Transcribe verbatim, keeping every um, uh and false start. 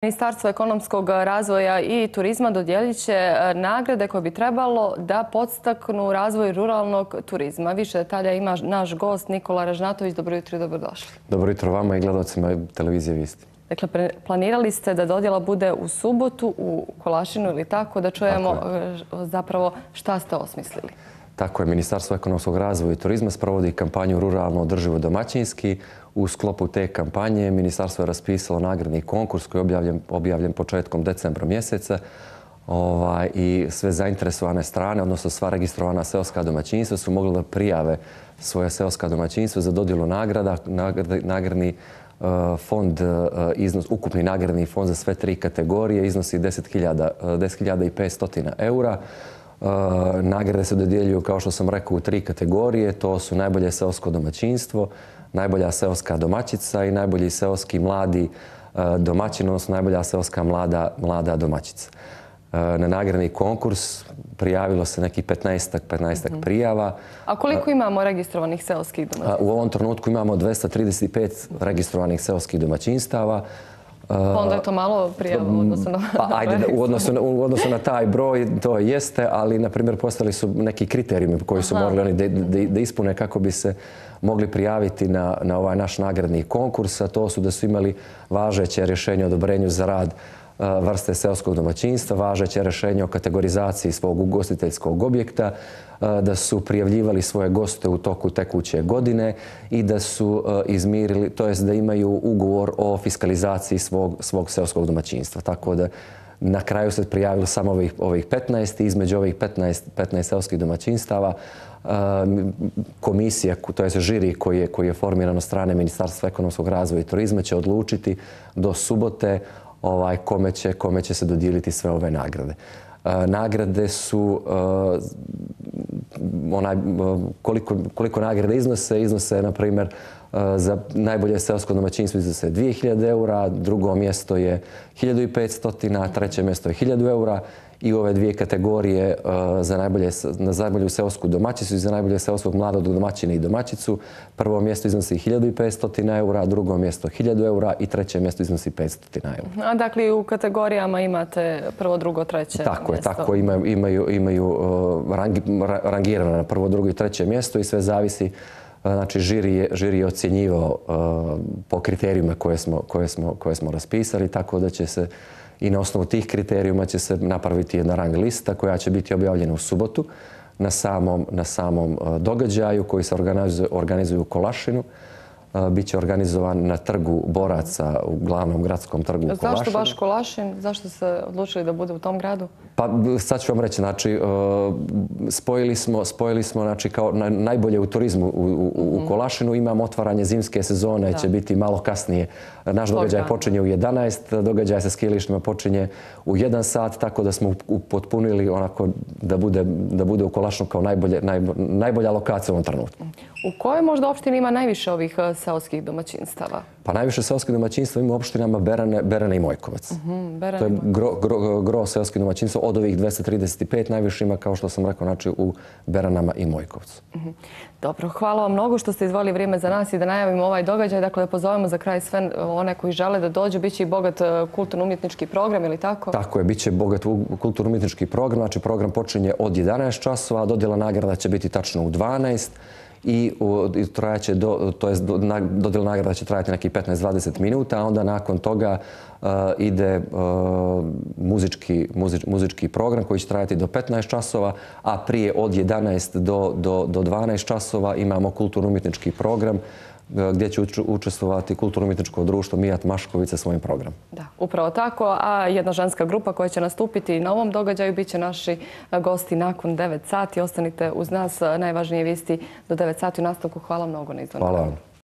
Ministarstvo ekonomskog razvoja i turizma dodijelit će nagrade koje bi trebalo da podstaknu razvoj ruralnog turizma. Više detalja ima naš gost Nikola Ražnatović. Dobro jutro i dobrodošli. Dobro jutro vama i gledalcima televizije Vijesti. Dakle, planirali ste da dodjela bude u subotu u Kolašinu ili tako, da čujemo zapravo šta ste osmislili. Tako je, Ministarstvo ekonomskog razvoja i turizma sprovodi kampanju Ruralno održivo domaćinski. U sklopu te kampanje Ministarstvo je raspisalo nagradni konkurs koji je objavljen, objavljen početkom decembra mjeseca ovaj, i sve zainteresovane strane, odnosno sva registrovana seoska domaćinstva su mogli da prijave svoje seoska domaćinstva za dodjelu nagrada. Nagrad, nagradni uh, fond, uh, iznos, ukupni nagradni fond za sve tri kategorije iznosi deset hiljada i petsto eura. Uh, nagrade se dodjeljuju, kao što sam rekao, u tri kategorije. To su najbolje seosko domaćinstvo, najbolja seoska domaćica i najbolji seoski mladi uh, domaćin, odnosno najbolja seoska mlada, mlada domaćica. Uh, na nagradni konkurs prijavilo se neki petnaestak mm-hmm. prijava. A koliko imamo registrovanih seoskih domaćinstava? Uh, u ovom trenutku imamo dvesta trideset pet registrovanih seoskih domaćinstava. Pa onda je to malo prijava u odnosu na... Pa ajde, u odnosu, na, u odnosu na taj broj to jeste, ali na primjer postali su neki kriterijumi koji su Aha. morali oni da, da, da ispune kako bi se mogli prijaviti na, na ovaj naš nagradni konkurs. A to su da su imali važeće rješenje o odobrenju za rad vrste seoskog domaćinstva, važeće rješenje o kategorizaciji svog ugostiteljskog objekta, da su prijavljivali svoje goste u toku tekuće godine i da su izmirili, to jest da imaju ugovor o fiskalizaciji svog, svog seoskog domaćinstva. Tako da na kraju se prijavilo samo ovih, ovih petnaest i između ovih petnaest, petnaest seoskih domaćinstava komisija, to je žiri koji je, koji je formiran od strane Ministarstva ekonomskog razvoja i turizma će odlučiti do subote ovaj, kome, će, kome će se dodijeliti sve ove nagrade. Uh, nagrade su, uh, onaj, uh, koliko, koliko nagrade iznose, iznose, na primjer, uh, za najbolje seosko domaćinstvo iznose dvije hiljade eura, drugo mjesto je hiljadu i petsto, treće mjesto je hiljadu eura i ove dvije kategorije uh, za, najbolje, za najbolju seosku domaćicu i za najbolje seoskog mladog domaćina i domaćicu. Prvo mjesto iznosi hiljadu i petsto eura, drugo mjesto hiljadu eura i treće mjesto iznosi petsto eura. A dakle u kategorijama imate prvo, drugo, treće tako mjesto? Je, tako imaju, imaju, imaju uh, rangi, rangirano na prvo, drugo i treće mjesto i sve zavisi. Znači, žiri je, žiri je ocjenjivao uh, po kriterijima koje smo, koje, smo, koje smo raspisali, tako da će se i na osnovu tih kriterijuma će se napraviti jedna rang lista koja će biti objavljena u subotu na samom, na samom događaju koji se organizuje, organizuje u Kolašinu. Biće organizovan na trgu boraca, u glavnom gradskom trgu u Kolašinu. Zašto baš Kolašin? Zašto ste odlučili da bude u tom gradu? Pa sad ću vam reći, znači, spojili smo, spojili smo znači, kao najbolje u turizmu u, u, u Kolašinu. Imamo otvaranje zimske sezone, da. će biti malo kasnije. Naš događaj počinje u jedanaest, događaj sa skijalištima počinje u jedan sat, tako da smo upotpunili onako da bude, da bude u Kolašinu kao najbolje, najbolje, najbolja lokacija u ovom trenutku. U kojoj možda opštini ima najviše ovih seoskih domaćinstava? Pa najviše seoskih domaćinstva ima u opštinama Berane, Berane i Mojkovac. Uh-huh, Berane to je gro, gro, gro seoskih domaćinstva. Od ovih dvesta trideset pet najviše ima, kao što sam rekao, znači u Beranama i Mojkovcu. Uh-huh. Dobro, hvala vam mnogo što ste izdvojili vrijeme za nas i da najavimo ovaj događaj. Dakle, da pozovemo za kraj sve one koji žele da dođu. Biće i bogat kulturno-umjetnički program, ili tako? Tako je, biće bogat kulturno-umjetnički program. Znači, program počinje od jedanaest časova, dodjela nagrada će biti tačno u dvanaest. I trajaće, do, to jest dodjela nagrada će trajati neki petnaest do dvadeset minuta, a onda nakon toga uh, ide uh, muzički, muzič, muzički program koji će trajati do petnaest časova, a prije od jedanaest do, do, do dvanaest časova imamo kulturno-umjetnički program gdje će učestvovati kulturno-umjetničko društvo Mijat Mašković sa svojim programom. Da, upravo tako. A jedna ženska grupa koja će nastupiti na ovom događaju bit će naši gosti nakon devet sati. Ostanite uz nas, najvažnije vijesti do devet sati u nastavku. Hvala mnogo na izvanju. Hvala vam.